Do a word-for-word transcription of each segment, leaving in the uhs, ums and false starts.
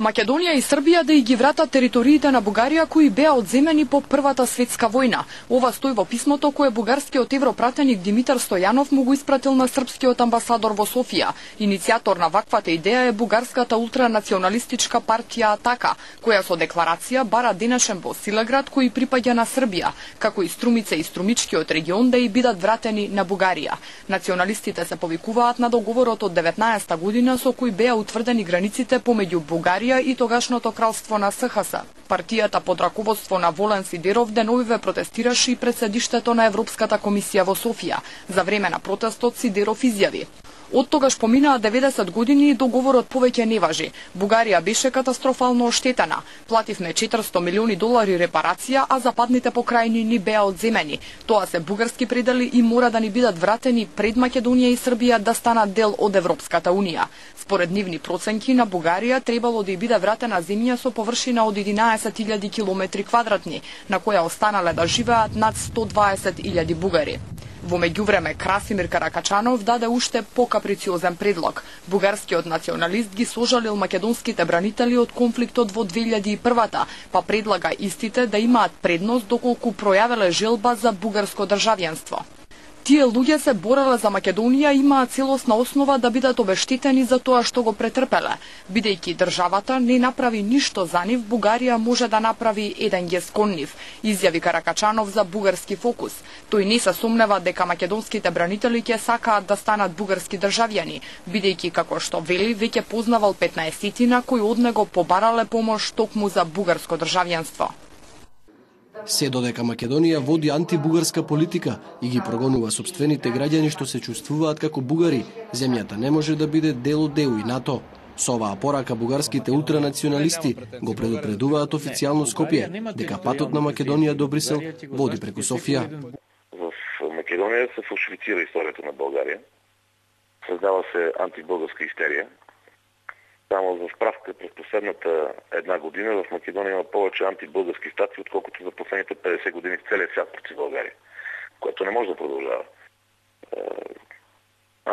Македонија и Србија да и ги вратат териториите на Бугарија кои беа одземени по Првата светска војна. Ова стои во писмото кое бугарскиот европратеник Димитар Стојанов му го испратил на српскиот амбасадор во Софија. Иницијатор на ваквата идеја е бугарската ултранационалистичка партија Атака, која со декларација бара денешен во Силеград кој припаѓа на Србија, како и Струмица и Струмичкиот регион да и бидат вратени на Бугарија. Националистите се повикуваат на договорот од деветнаесетта година со кој беа утврдени границите помеѓу Бугарија и тогашното кралство на СХС. Партијата под раководство на Волен Сидеров деновиве протестираше и пред седиштето на Европската комисија во Софија. За време на протестот Сидеров изјави: "Од тогаш поминаа деветдесет години и договорот повеќе не важи. Бугарија беше катастрофално оштетена. Плативме четиристо милиони долари репарација, а западните покрајни ни беа одземени. Тоа се бугарски предели и мора да ни бидат вратени пред Македонија и Србија да станат дел од Европската унија." Според нивни проценки, на Бугарија требало да и биде вратена земја со површина од единаесет илјади километри квадратни, на која останале да живеат над сто дваесет илјади бугари. Во меѓувреме, Красимир Каракачанов даде уште покаприциозен предлог. Бугарскиот националист ги сожалил македонските бранители од конфликтот во две илјади и првата, па предлага истите да имаат предност доколку пројавиле желба за бугарско државјанство. Тие луѓе се бореле за Македонија и имаат целосна основа да бидат обештетени за тоа што го претрпеле. Бидејќи државата не направи ништо за нив, Бугарија може да направи еден гест кон нив, изјави Каракачанов за Бугарски фокус. Тој не се сомнева дека македонските бранители ќе сакаат да станат бугарски државјани, бидејќи, како што вели, веќе познавал петнаесетина кои од него побарале помош токму за бугарско државјанство. Се додека Македонија води антибугарска политика и ги прогонува сопствените граѓани што се чувствуваат како бугари, земјата не може да биде дел од Е У и НАТО. Со оваа порака бугарските ултранационалисти го предупредуваат официјално Скопје дека патот на Македонија до Брисел води преку Софија. В Македонија се фалшифицира историјата на Българија. Создава се антибугарска истерија. Само за справка, през последната една година в Македонија има повече антибулгарски статии, отколкото за последните петдесет години в целия свят против България, което не може да продължава.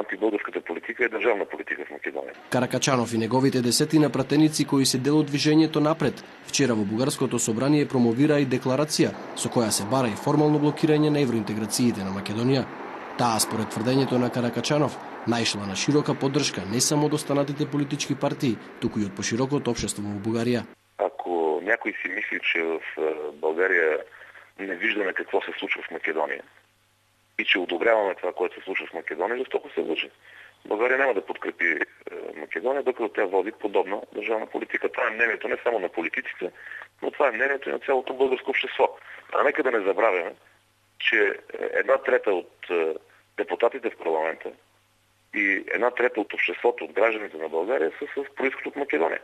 Антибулгарската политика е државна политика в Македонија. Каракачанов и неговите десетина пратеници кои се дел од движењето Напред, вчера во Бугарското собрание промовира и декларација со која се бара и формално блокирање на евроинтеграциите на Македонија. Таа, според тврдењето на Каракачанов, наишла на широка поддршка не само од останатите политички партии, туку и од поширокото општество во Бугарија. Ако някој си мисли, че в Българија не виждаме какво се случва в Македонија и че одобряваме това, което се случва в Македонија, жестоко се лъже. Българија няма да подкрепи Македонија, докато тя води подобна държавна политика. Това е мнението не само на политиците, но това е мнението и на цялото българско общество. А нека да не забравяме, че една трета от депутатите в парламента и една трета от обществото, от гражданите на Българија са с происход от Македонија.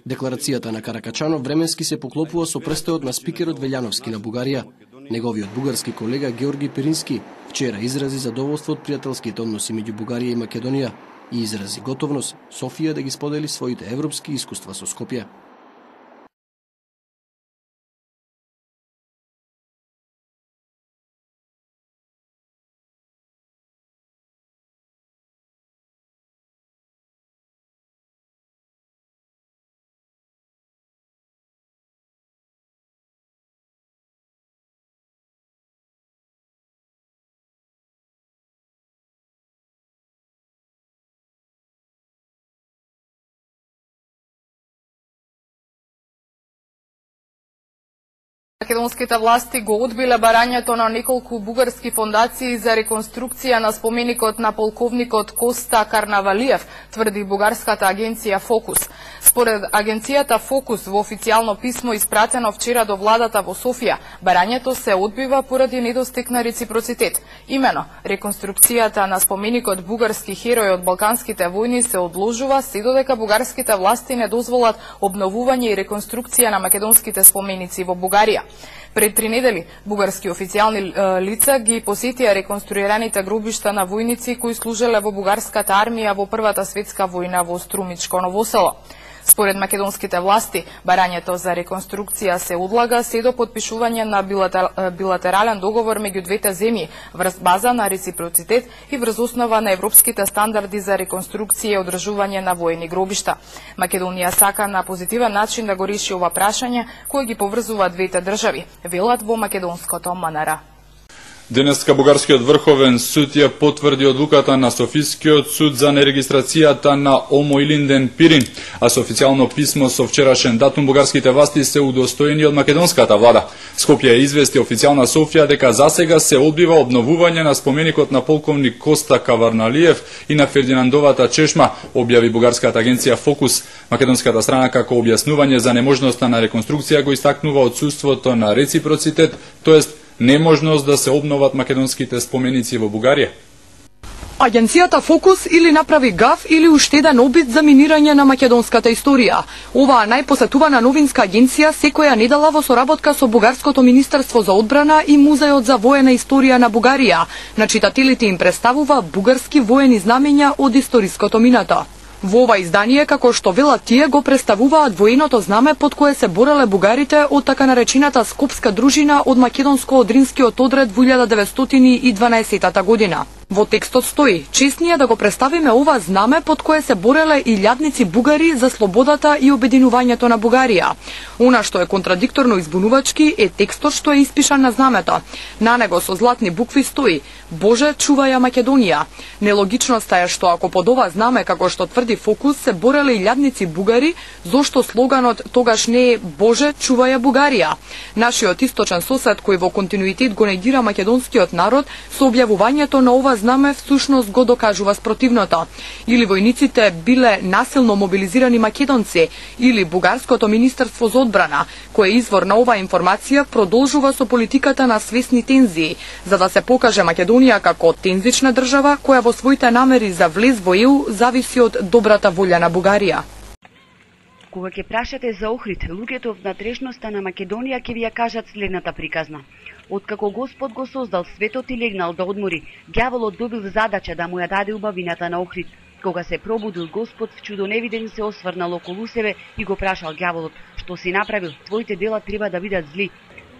Декларацијата на Каракачанов временски се поклопува со престојот на спикерот Велјановски на Бугарија. Неговиот бугарски колега Георги Пирински вчера изрази задоволство од пријателските односи меѓу Бугарија и Македонија и изрази готовност Софија да ги сподели своите европски искуства со Скопје. Македонските власти го одбиле барањето на неколку бугарски фондации за реконструкција на споменикот на полковникот Коста Карнавалиев, тврди бугарската агенција Фокус. Според агенцијата Фокус во официјално писмо испратено вчера до владата во Софија, барањето се одбива поради недостиг на реципроцитет. Имено, реконструкцијата на споменикот бугарски херој од Балканските војни се одложува се додека бугарските власти не дозволат обновување и реконструкција на македонските споменици во Бугарија. Пред три недели, бугарски официјални лица ги посетија реконструираните гробишта на војници кои служеле во бугарската армија во Првата светска војна во Струмичко Новосело. Според македонските власти, барањето за реконструкција се одлага се до потпишување на билатерален договор меѓу двете земји врз база на реципроцитет и врз основа на европските стандарди за реконструкција и одржување на воени гробишта. Македонија сака на позитивен начин да го реши ова прашање кое ги поврзува двете држави, велат во македонското МНР. Денеска Бугарскиот врховен суд ја потврди одлуката на Софискиот суд за нерегистрацијата на Омо Илинден Пирин, а со официјално писмо со вчерашен датум бугарските власти се удостоени од македонската влада. Скопје извести официјална Софија дека засега се одбива обновување на споменикот на полковник Коста Каварналиев и на Фердинандовата чешма, објави бугарската агенција Фокус. Македонската страна како објаснување за неможноста на реконструкција го истакнува отсуството на реципроцитет, тоест неможност да се обноват македонските споменици во Бугарија. Агенцијата Фокус или направи гаф или уште еден обид за минирање на македонската историја. Оваа најпосетувана новинска агенција секоја недела во соработка со Бугарското министерство за одбрана и Музеот за воена историја на Бугарија на читателите им представува бугарски воени знамења од историското минато. Во ова издание, како што велат тие, го представуваат военото знаме под кое се бореле бугарите од така наречената Скопска дружина од македонско-одринскиот одред во илјада деветстотини и дванаесетта година. Во текстот стои: честни е да го представиме ова знаме под кое се бореле илјадници бугари за слободата и обединувањето на Бугарија. Она што е контрадикторно и збунувачки е текстот што е испишан на знамето. На него со златни букви стои: Боже, чувај ја Македонија. Нелогичноста е што ако под ова знаме, како што тврди Фокус, се бореле илјадници бугари, зошто слоганот тогаш не е Боже, чувај ја Бугарија. Нашиот источен сосед кој во континуитет го негира македонскиот народ со објавувањето на ова знаме всушност го докажува спротивното. Или војниците биле насилно мобилизирани македонци, или Бугарското министерство за одбрана, кој извор на оваа информација, продолжува со политиката на свесни тензии, за да се покаже Македонија како тензична држава која во своите намери за влез во Е У зависи од добрата волја на Бугарија. Кога ќе прашате за Охрид, луѓето в натрешноста на Македонија ќе ви ја кажат следната приказна. Откако Господ го создал светот и легнал да одмори, ѓаволот добил задача да му ја даде убавината на Охрид. Кога се пробудил Господ, в чудо невиден се осврнал околу себе и го прашал ѓаволот: што си направил? Твоите дела треба да бидат зли.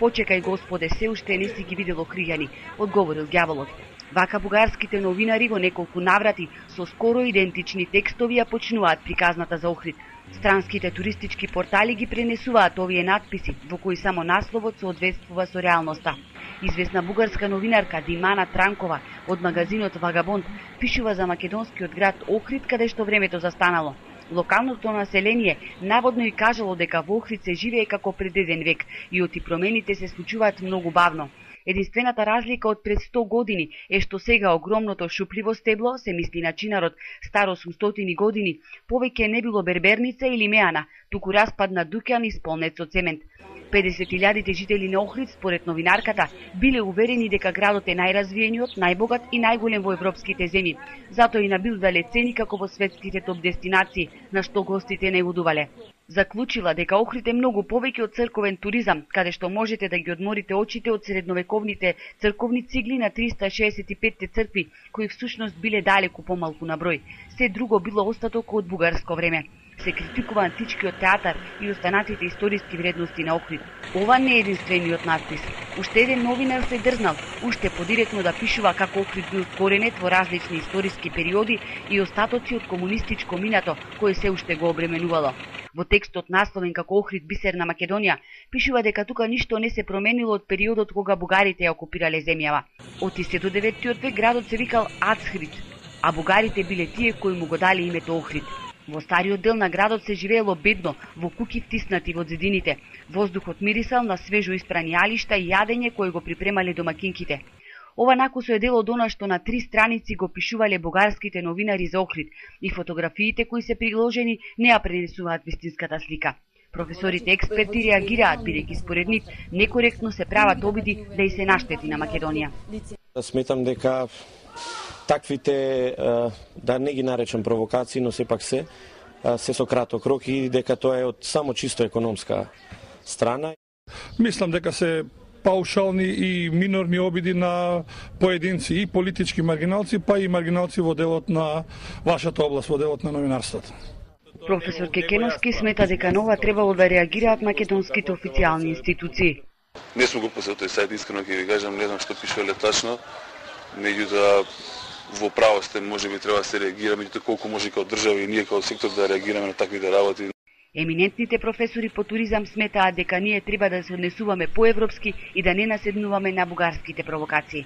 Почекај, Господе, се уште не си ги видел охријани, одговорил ѓаволот. Вака бугарските новинари во неколку наврати со скоро идентични текстови ја почнуваат приказната за Охрид. Странските туристички портали ги пренесуваат овие надписи, во кои само насловот соодветствува со реалноста. Известна бугарска новинарка Димана Транкова од магазинот Вагабонд пишува за македонскиот град Охрид, каде што времето застанало. Локалното население наводно и кажало дека во Охрид се живее како пред еден век и оти промените се случуваат многу бавно. Единствената разлика од пред сто години е што сега огромното шупливо стебло, се мисли на чинарот стар осумстотини години, повеќе не било берберница или меана, туку распадна дуќан исполнет со цемент. педесет илјадите жители на Охрид, според новинарката, биле уверени дека градот е најразвиениот, најбогат и најголем во европските земји. Затоа и набилдале цени како во светските топ дестинации, на што гостите не удувале. Заклучила дека Охрид е многу повеќе од црковен туризам, каде што можете да ги одморите очите од средновековните црковни цигли на триста шеесет и пет цркви, кои всушност биле далеку помалку на број. Се друго било остаток од бугарско време. Се критикува античкиот театар и останатите историски вредности на Охрид. Ова не е единствениот надпис. Уште еден новинар се дрзнал, уште подиректно да пишува како Охрид бил коренет во различни историски периоди и остатоци од комунистичко минато, кое се уште го обременувало. Во текстот насловен како Охрид бисер на Македонија, пишува дека тука ништо не се променило од периодот кога бугарите ја окупирале земјава. Од до деветиот век градот се викал Ацхрид, а бугарите биле тие кои му го дали името Охрид. Во стариот дел на градот се живеело бедно, во куќи втиснати во зидините. Воздухот мирисал на свежо испрани јалишта и јадење кои го припремале домакинките. Ова накусо е дел од она што на три страници го пишувале бугарските новинари за Охрид и фотографиите кои се приложени не ја пренесуваат вистинската слика. Професорите експерти реагираат, бидејќи според нив некоректно се прават обиди да и се наштети на Македонија. Сметам дека таквите, да не ги наречам провокации, но сепак се, се со краток рок и дека тоа е од само чисто економска страна. Мислам дека се паушални и минорни обиди на поединци и политички маргиналци, па и маргиналци во делот на вашата област, во делот на новинарството. Професор Кекеновски смета дека на ова требало да реагираат македонските официјални институции. Не сум го посетил тој сајт, искрено ќе ви кажам, не знам што пишува тачно, меѓутоа во право сте, можеби треба да се реагира, меѓутоа колку може како држава и ние како сектор да реагираме на таквите работи. Еминентните професори по туризам сметаат дека ние треба да се однесуваме поевропски и да не наседнуваме на бугарските провокации.